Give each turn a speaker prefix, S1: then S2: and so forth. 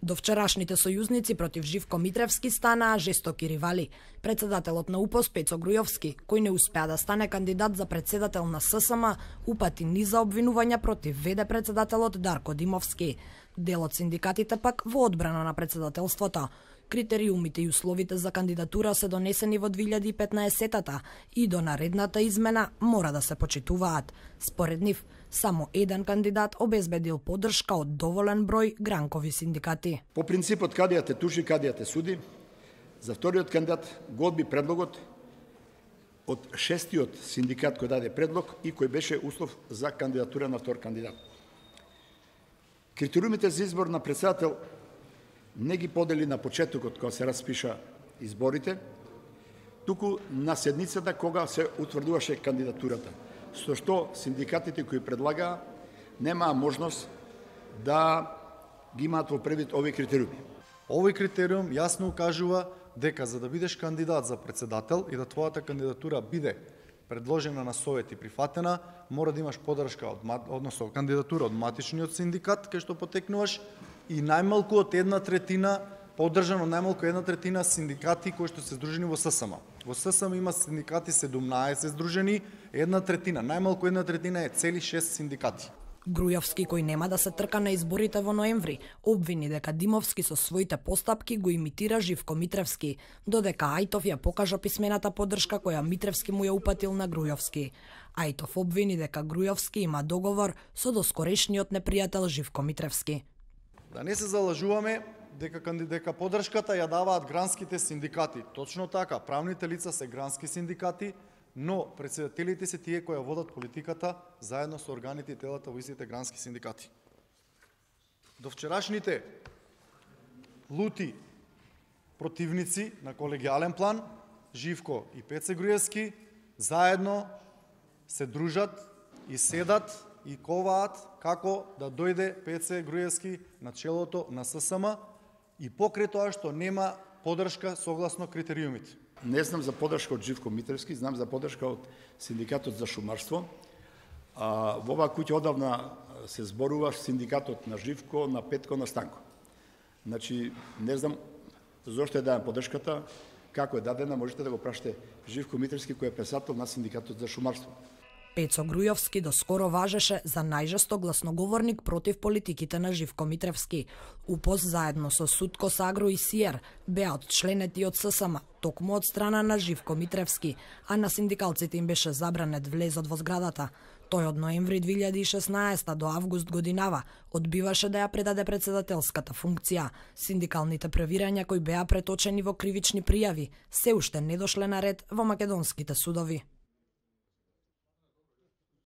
S1: До вчерашните сојузници против Живко Митревски станаа жестоки ривали. Председателот на УПОС Пецо Грујовски, кој не успеа да стане кандидат за председател на ССМ, упати низ за обвинувања против ВД председателот Дарко Димовски. Дел од синдикатите пак во одбрана на председателството. Критериумите и условите за кандидатура се донесени во 2015-та и до наредната измена мора да се почитуваат. Според нив, само еден кандидат обезбедил поддршка од доволен број гранкови синдикати.
S2: По принципот кадија те тужи, кадија те суди, за вториот кандидат го одби предлогот од шестиот синдикат кој даде предлог и кој беше услов за кандидатура на втор кандидат. Критериумите за избор на председател не ги подели на почетокот кога се распиша изборите, туку на седницата кога се утврдуваше кандидатурата, со што синдикатите кои предлагаа немаа можност да ги имаат во превид овие критериуми.
S3: Овој критериум јасно укажува дека за да бидеш кандидат за председател и да твојата кандидатура биде предложена на совет и прифатена, мора да имаш поддршка односно кандидатура од матичниот синдикат кај што потекнуваш и најмалку од 1/3 поддржано најмалку 1/3 синдикати кои што се здружени во ССМ. Во ССМ има синдикати 17 здружени, 1/3, најмалку 1/3 е цели 6 синдикати.
S1: Грујовски, кој нема да се трка на изборите во ноември, обвини дека Димовски со своите постапки го имитира Живко Митревски, додека Ајтов ја покажа писмената поддршка која Митревски му ја упатил на Грујовски. Ајтов обвини дека Грујовски има договор со доскорешниот непријател Живко Митревски.
S3: Да не се залажуваме дека поддршката ја даваат гранските синдикати. Точно така, правните лица се грански синдикати, но председателите се тие кои ја водат политиката заедно со органите и телата во истите грански синдикати. До вчерашните лути противници на колегијален план, Живко и Пеце Грујевски, заедно се дружат и седат и коваат како да дојде Пеце Грујевски на челото на ССМ и покрај тоа што нема поддршка согласно критериумите.
S2: Не знам за поддршка од Живко Митревски, знам за поддршка од Синдикатот за шумарство. Во оваа куќа одавна се зборува синдикатот на Живко, на Петко, на Станко. Значи, не знам зошто е дадена поддршката, како е дадена, можете да го прашате Живко Митревски кој е председател на Синдикатот за шумарство.
S1: Пецо Грујовски доскоро важеше за најжесток гласноговорник против политиките на Живко Митревски. УПОС заедно со Сутко Сагро и СИЕР беа одчленети од ССМ, токму од страна на Живко Митревски, а на синдикалците им беше забранет влезот во зградата. Тој од ноември 2016 до август годинава одбиваше да ја предаде председателската функција. Синдикалните превирања кои беа преточени во кривични пријави се уште не дошле на ред во македонските судови.